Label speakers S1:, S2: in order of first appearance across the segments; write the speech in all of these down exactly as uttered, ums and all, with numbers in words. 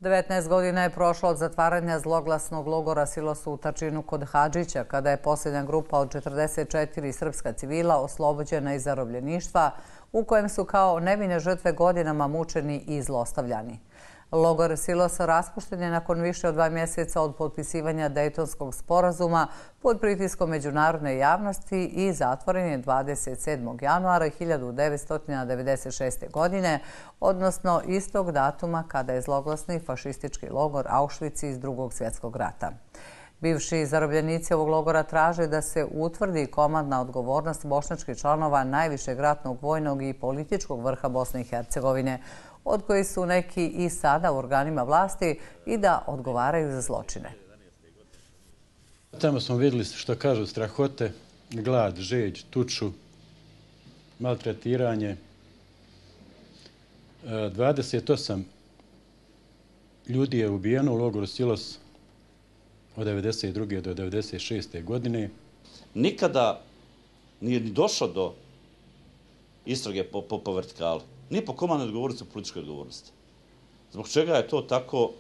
S1: devetnaest godina je prošlo od zatvaranja zloglasnog logora Silos u Tačinu kod Hadžića, kada je posljednja grupa od četrdeset četiri srpska civila oslobođena iz zarobljeništva, u kojem su kao nevine žrtve godinama mučeni i zlostavljani. Logor Silos raspušten je nakon više od dva mjeseca od potpisivanja Dejtonskog sporazuma pod pritiskom međunarodne javnosti i zatvoren je dvadeset sedmog januara hiljadu devetsto devedeset šeste. godine, odnosno istog datuma kada je zloglasni fašistički logor Auschwitz iz Drugog svjetskog rata. Bivši zarobljenici ovog logora traže da se utvrdi komandna odgovornost bošnjačkih članova najvišeg ratnog, vojnog i političkog vrha Bosne i Hercegovine, od koji su neki i sada u organima vlasti, i da odgovaraju za zločine.
S2: Tamo smo vidjeli, što kažu, strahote, glad, žeđ, tuču, maltretiranje. dvadeset osam ljudi je ubijeno u logoru Silos od devedeset druge do devedeset šeste. godine.
S3: Nikada nije ni došlo do istrage po, po, po vertikali. Ni po komandnoj odgovornosti, po političkoj odgovornosti. Zbog čega je to tako,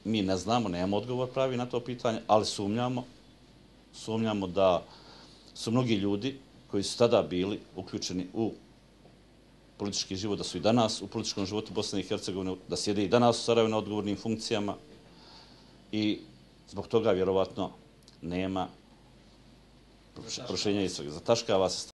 S3: mi ne znamo, nemamo odgovor pravi na to pitanje, ali sumnjamo, sumnjamo da su mnogi ljudi koji su tada bili uključeni u politički život, da su i danas u političkom životu Bosne i Hercegovine, da sjede i danas u Sarajevu na odgovornim funkcijama i zbog toga vjerovatno nema proširenja istrage. Zataškava se